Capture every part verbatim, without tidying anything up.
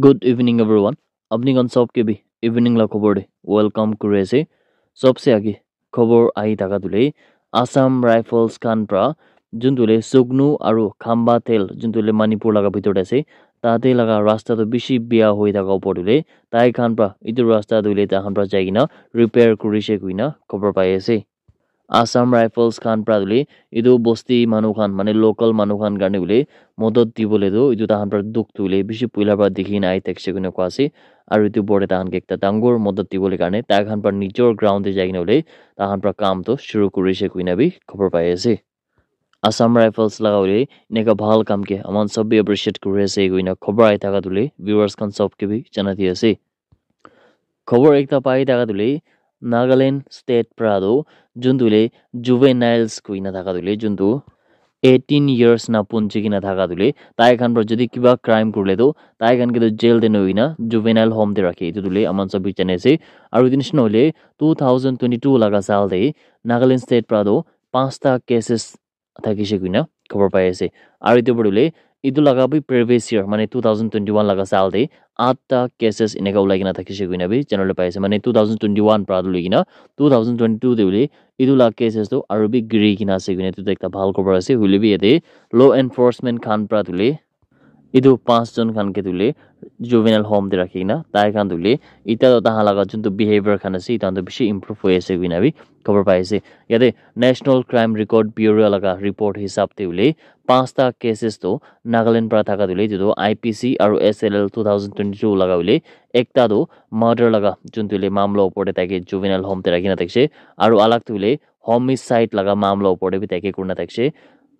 Good evening, everyone. Apni khan sob ke bhi evening la khobor de welcome kuri ase. Sobse age khobor ahi thaka tu le Assam Rifles khan pra juntu le Sugnu aru Khamba Thel juntu le Manipur laga bhitor de ase. Tate laga rasta tu bishi bia hoi thaka upor tu le tai khan pra itu rasta tu le tai khan pra jai kena repair kuri she koina khobor pai ase. Assam Rifles khan pra tu le itu bosti manu khan mane local manu khan karne tu le modot dibole tu itu tahan pra dukh tu le bishi puila pra dikhi na ahi thakishe koina koa ase. Aru itu bore tahan ke ekta dangor modot dibole karne tai khan pra nijor ground te jai kena tu le tahan pra kam tu shuru kurishe koina bi khobor pai ase. Assam Rifles laga hoile eneka bhal kam ke aman sob bi appreciate kuri ase koina khobor ahi thaka tu le viewers khan sob ke bi jana di ase. Khobor ekta pai thaka tu le Nagaland state pra tu juntu le juveniles koina thaka tu le juntu eighteen years na punji kena thaka tu le tai khan pra jodi kiba crime kurle tu tai khan ke tu jail te nohoi na juvenile home te rakhe itu tu le aman sob bi jane ase. Aru itu nisina hoile two thousand twenty-two laga saal te Nagaland state pra tu panchta cases thakishe koina khobor pai ase. Aru itu pore tu le itu laga bi previous year mane two thousand twenty-one laga saal te atta cases eneka ulai kena thakishe koina bi janabole pai ase. Mane two thousand twenty-one pra tu loi kena two thousand twenty-two te hoile itu la cases tu aru bi giri kena ase koina itu tu ekta bhal khobor ase. Hoile bi yate law enforcement khan pra tu le itu panch jon khan ke tu le juvenile home te rakhi kena tai khan tu le ita tu tahan laga juntu behavior khan ase itu khan tu bishi improve hoi ase koina bi khobor pai ase. Yate National Crime Record Bureau laga report hisab te hoile panchta cases tu Nagaland pra thaka tu le itu tu I P C aru S L L two thousand twenty-two laga hoile ekta tu murder laga juntu le mamla upor te tai ke juvenile home te rakhi kena thakishe aru alag tu hoile homicide laga mamla upor te bi tai ke kurina thakishe.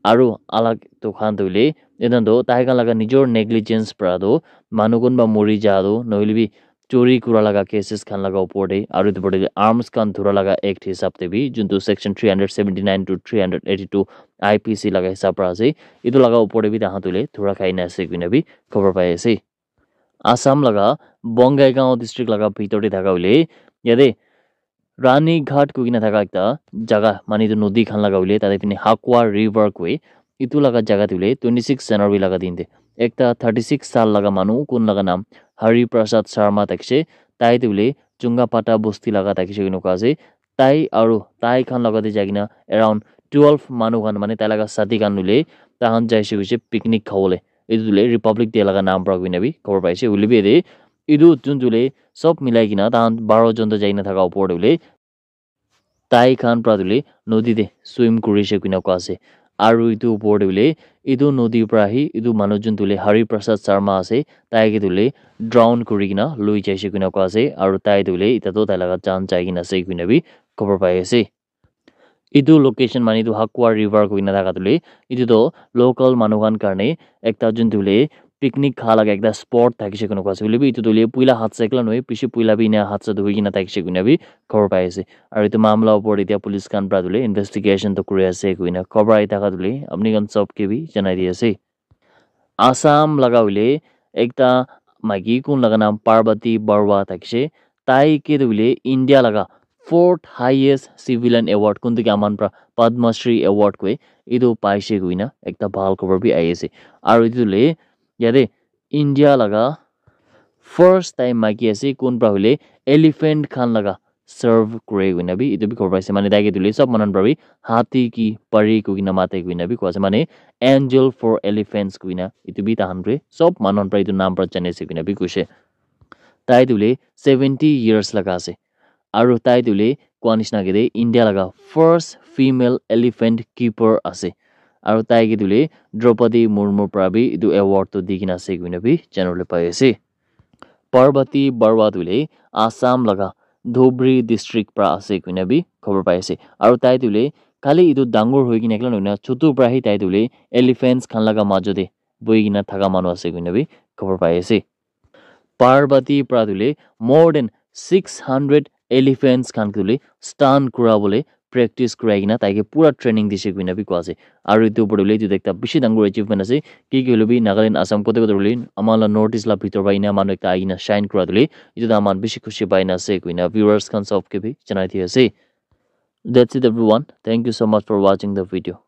Aru alag tu khan tu hoile etu tu tai khan laga nijor negligence pra tu manu kunba mori ja tu nohoile bi chori kura laga cases khan laga upor te aru etu pore arms khan dhura laga act hisab te bi juntu section three hundred seventy-nine to three hundred eighty-two I P C laga hisab pra ase. Itu laga upor te bi tahan tu le dhura khai na ase koina bi khobor pai ase. Assam laga Bongaigaon district laga bhitor te thaka hoile yate Rani Ghat koi kena thaka ekta jaga mane itu nodi khan laga hoile tate pine Hakwa River koi itu laga jaga te hoile twenty-six January laga din te ekta thirty-six saal laga manu kun laga naam Hari Prasad Sharma thakishe. Tai tu hoile Chunga Pata bosti laga thakishe koina koa ase. Tai aru tai khan laga te jai kena around twelve manu khan mane tai laga sati khan hoile tai khan jaishe koishe picnic khabole. Itu tu hoile Republic Day laga naam pra koina bi khobor pai ase. Hoile bi yate itu juntu hoile sob milai kena tahan baro jon toh jai kena thaka upor te hoile tai khan pra tu hoile nodi te swim kurishe koina koa ase. Aru itu upor te hoile itu nodi pra hi itu manu juntu hoile Hari Prasad Sharma ase tai ke tu hoile drown kuri kena loi jaishe koina koa ase aru tai tu hoile ita tu tai laga jaan jai kena ase koina bi khobor pai ase. Itu location mane itu Hakwa River koina thaka tu le itu tu local manu khan karne ekta juntu le picnic kha laga ekta spot thakishe koina koa ase. Hoile bi itu tu le puila hadsa ekla nohoi bishi puila bi ena hadsa tu hoi kena thakishe koina bi khobor pai ase. Aru itu mamla upor te police khan pra tu le investigation tu kuri ase koina khobor ahi thaka tu le apni khan sob ke bi janai di ase. Assam laga hoile ekta maiki kun laga naam Parvati Barua thakishe. Tai ke tu hoile India laga fourth highest civilian award kun tu ke aman pra Padma Shri award koi itu paishe koina ekta bhal khobor bi ahi ase. Aru itu le yate India laga first time maiki ase kun pra hoile elephant khan laga serve kure koina bi itu bi khobor paise. Mane tai ke tu hoile sob manu khan pra bi hati ki pari koina mate koina bi koa ase. Mane angel for elephants koina itu bi tahan pra sob manu khan pra itu naam pra jane ase koina bi koishe. Tai tu hoile seventy years laga ase. Aru tai tu hoile koa nishina ke te India laga first female elephant keeper ase. Aru tai ke tu hoile Draupadi Murmu pra bi itu award tu di kena ase koina bi janabole pai ase. Parvati Barua tu hoile Assam laga Dhubri district pra ase koina bi khobor pai ase. Aru tai tu hoile khali itu dangor hoi kena ekla nohoi na chutu pra hi tai tu hoile elephants khan laga majo te bohi kena thaka manu ase koina bi khobor pai ase. Parvati pra tu hoile more than six hundred elephants khan tu hoile stun kura bole practice kurai kena tai ke pura training dishe koina bi koa ase. Aru itu upor te hoile itu ekta bishi dangor achievement ase. Ki ki hoile bi Nagaland, Assam kote kote hoile ama la North East la bhitor pra ena manu ekta ahi kena shine kura tu hoile itu tu aman bishi khushi pai na ase koina viewers khan sob ke bi janai di ase. That's it, everyone. Thank you so much for watching the video.